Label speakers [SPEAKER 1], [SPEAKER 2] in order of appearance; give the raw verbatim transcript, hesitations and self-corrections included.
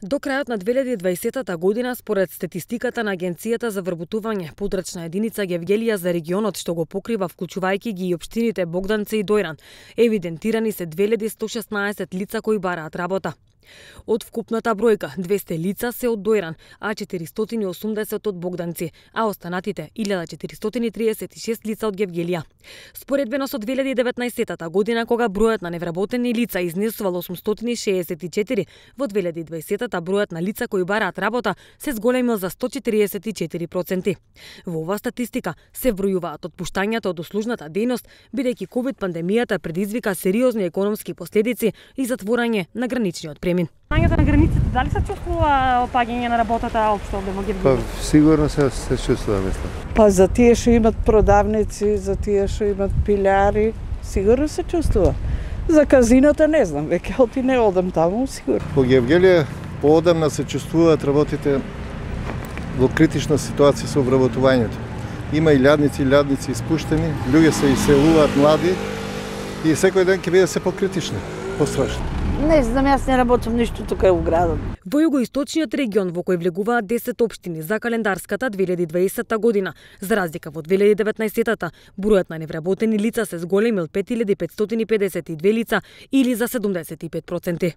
[SPEAKER 1] До крајот на две илјади и дваесетта година, според статистиката на Агенцијата за вработување, подрачна единица Гевгелија за регионот, што го покрива вклучувајќи ги и општините Богданци и Дојран, евидентирани се две илјади сто шеснаесет лица кои бараат работа. Од вкупната бројка, двесте лица се од Дојран, а четиристотини и осумдесет од Богданци, а останатите илјада четиристотини и триесет и шест лица од Гевгелија. Споредбено со две илјади и деветнаесетта година, кога бројот на невработени лица изнесувал осумстотини и шеесет и четири, во две илјади и дваесетта бројот на лица кои бараат работа се зголемил за сто четириесет и четири проценти. Во оваа статистика се вбројуваат отпуштањата од услужната дејност, бидејќи ковид пандемијата предизвика сериозни економски последици и затворање на граничниот премин.
[SPEAKER 2] Паѓањето на границите, дали се чувствува опаѓање на работата општо во Гевгелија?
[SPEAKER 3] Па сигурно се се чувствува, мислам.
[SPEAKER 4] Па за тие што имат продавници, за тие што имат пилјари, сигурно се чувствува. За казиното не знам, веќе оти не одам таму, сигурно.
[SPEAKER 3] Во Гевгелија поодамна се чувствуваат работите во критична ситуација со вработувањето. Има и лјадници, и лјадници испуштени, луѓе се иселуваат млади и секој ден ќе биде се покритични, пострашно.
[SPEAKER 5] Не знам, јас не работам ништо тука во градот.
[SPEAKER 1] Во југоисточниот регион во кој влегуваат десет општини за календарската две илјади и дваесетта година, за разлика во две илјади и деветнаесетта, бројот на невработени лица се зголемил пет илјади петстотини и педесет и две лица или за седумдесет и пет проценти.